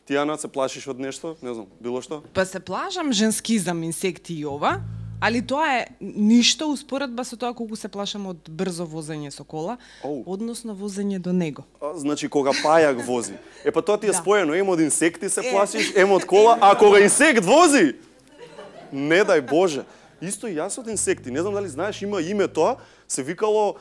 Ти, Ана, се плашиш од нешто? Не знам, било што? Па се плашам женскизам, инсекти и ова, али тоа е ништо успоредба со тоа колку се плашам од брзо возење со кола, односно возење до него. Значи, кога пајак вози. Па тоа ти е споено, од инсекти се плашиш, од кола, а кога инсект вози, не дај Боже. Исто и јас од инсекти, не знам дали знаеш, има име тоа, се викало,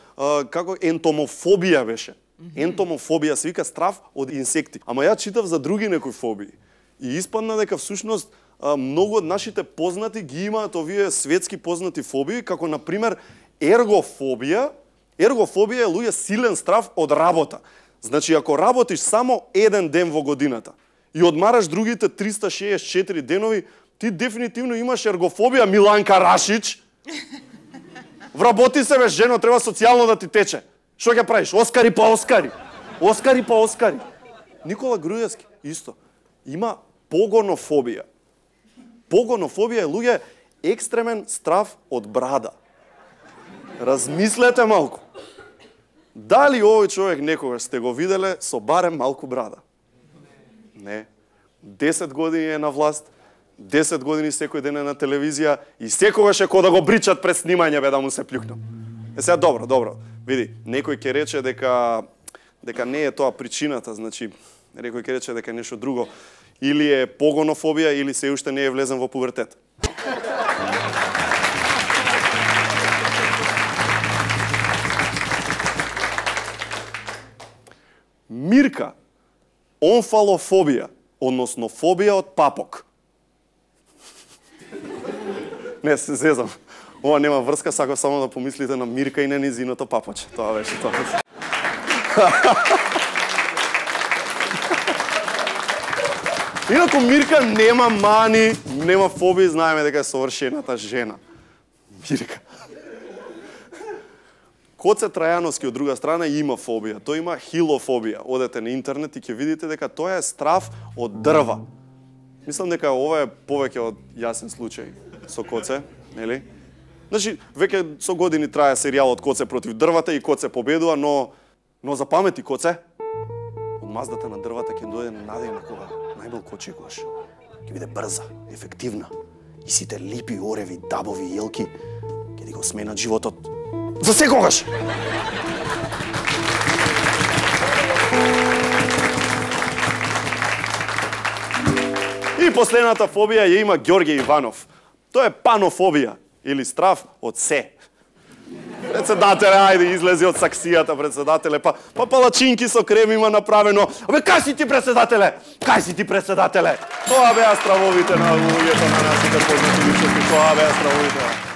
како ентомофобија беше. Ентомофобија се вика страв од инсекти. Ама ја читав за други некои фобии. И испадна дека всушност многу од нашите познати ги имаат овие светски познати фобии, како например ергофобија. Ергофобија е луѓе силен страв од работа. Значи, ако работиш само еден ден во годината и одмараш другите 364 денови, ти дефинитивно имаш ергофобија, Миланка Рашич. Вработи се, бе, жено, треба социјално да ти тече. Што ќе правиш? Оскари па Оскари. Оскари па Оскари. Никола Груевски, исто. Има погонофобија. Погонофобија е луѓе екстремен страв од брада. Размислете малку. Дали овој човек некогаш сте го виделе со барем малку брада? Не. 10 години е на власт, 10 години секој ден е на телевизија и секогаш е кој да го бричат пред снимање, бе, да му се плюкнат. Сега добро. Види, некој ќе рече дека не е тоа причината, значи некој ќе рече дека е нешто друго. Или е погонофобија, или се уште не е влезен во пубертет. Мирка, онфалофобија, односно фобија од папок. Не, се зезам. Ова нема врска, сакав само да помислите на Мирка и на низиното папоче. Тоа беше тоа. Инаку Мирка нема мани, нема фобии, знаеме дека е совршената жена. Мирка. Коце Трајановски од друга страна има фобија. Тој има хилофобија. Одете на интернет и ќе видите дека тоа е страв од дрва. Мислам дека ова е повеќе од јасен случај со Коце, нели? Значи, веќе со години трае серијалот Коце против дрвата и Коце победува, но запамети Коце. Од маздата на дрвата ќе дојде надејна кога најмалку очекуваш. Ќе биде брза, ефективна и сите липи, ореви, дабови и елки ќе ти го сменат животот за секогаш. И последната фобија ја има Ѓорѓе Иванов. Тоа е панофобија или страв од се. Председателе, ајде, излези од саксијата, председателе, па палачинки со крем има направено. Абе, кај си ти, председателе? Кај си ти, председателе? Тоа беа стравовите на луѓето на нашите познати личности, тоа беа стравовите.